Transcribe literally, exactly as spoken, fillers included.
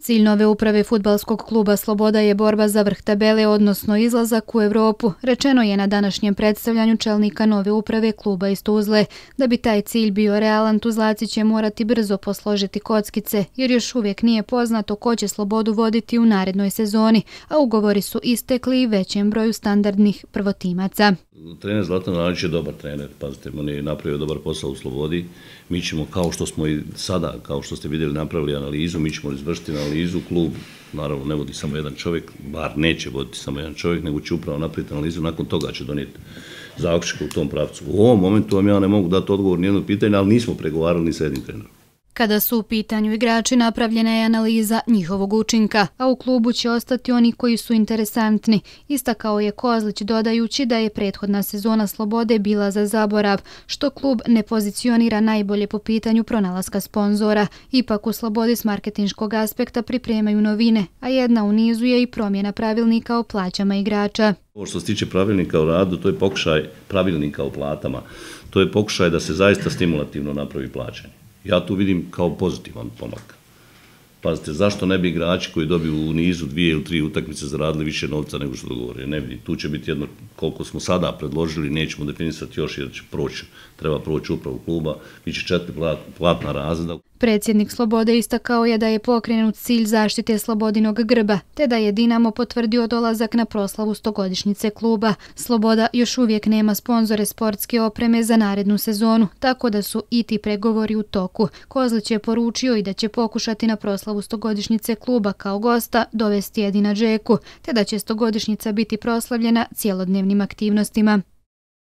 Cilj nove uprave fudbalskog kluba Sloboda je borba za vrh tabele, odnosno izlazak u Evropu, rečeno je na današnjem predstavljanju čelnika nove uprave kluba iz Tuzle. Da bi taj cilj bio realan, Tuzlaci će morati brzo posložiti kockice, jer još uvijek nije poznato ko će Slobodu voditi u narednoj sezoni, a ugovori su istekli i većem broju standardnih prvotimaca. Trener Zlatan Radić je dobar trener, pazite, on je napravio dobar posao u Slobodi. Mi ćemo, kao što smo i sada, kao što ste vidjeli, napravili analizu, mi ćemo izvršiti analizu. Klub, naravno, ne vodi samo jedan čovjek, bar neće voditi samo jedan čovjek, nego će upravo napraviti analizu, nakon toga će donijeti zaključke u tom pravcu. U ovom momentu vam ja ne mogu dati odgovor ni jedno pitanje, ali nismo pregovarali ni sa jednim trenerom. Kada su u pitanju igrači, napravljena je analiza njihovog učinka, a u klubu će ostati oni koji su interesantni, istakao je Kozlić dodajući da je prethodna sezona Slobode bila za zaborav, što klub ne pozicionira najbolje po pitanju pronalaska sponzora. Ipak u Slobodi s marketinškog aspekta pripremaju novine, a jedna u nizu je i promjena pravilnika o plaćama igrača. Ovo što se tiče pravilnika o radu, to je pokušaj pravilnika o platama, to je pokušaj da se zaista stimulativno napravi plaćanje. Ja tu vidim kao pozitivan pomak. Pazite, zašto ne bi igrači koji dobiju u nizu dvije ili tri utakmice zaradili više novca nego što dogovore? Ne vidim. Tu će biti jedno, koliko smo sada predložili, nećemo definisati još jer će proći, treba proći upravu kluba, bit će četiri platna razreda. Predsjednik Slobode istakao je da je pokrenut cilj zaštite Slobodinog grba, te da je Dinamo potvrdio dolazak na proslavu stogodišnjice kluba. Sloboda još uvijek nema sponzore sportske opreme za narednu sezonu, tako da su i ti pregovori u toku. Kozlić je poručio i da će pokušati na proslavu stogodišnjice kluba kao gosta dovesti Edina Džeku, te da će stogodišnjica biti proslavljena cjelodnevnim aktivnostima.